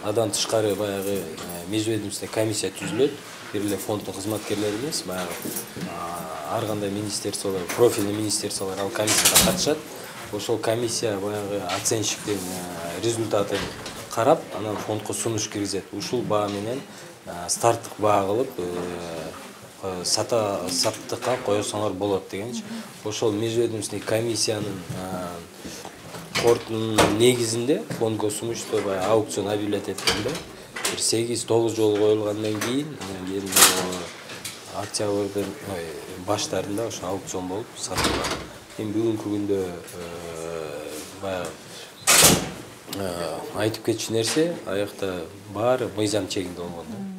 Адан тышкары баягы межведомственный комиссия түзүлөт. Бир эле фонддун кызматкерлери эмес, баягы ар кандай министерстволор, профильный министерстволор ал комиссияга катышат. Ошол комиссия баягы оценщиктин результатын карап, анан фондко сунуш киргизет. Ушул баа менен старттык баа кылып саттыкка койсоңор болот дегенчи. Ошол межведомственный комиссиянын корутунун негизинде фондго сунушту баягы аукцион объявлять эткенде 8-9 жолу коюлгандан кийин октябрдын баштарында ошо аукцион болуп сатылган. Эми бүгүнкү күндө баягы айтып кетчү нерсе аякта баары мыйзам чегинде болгон.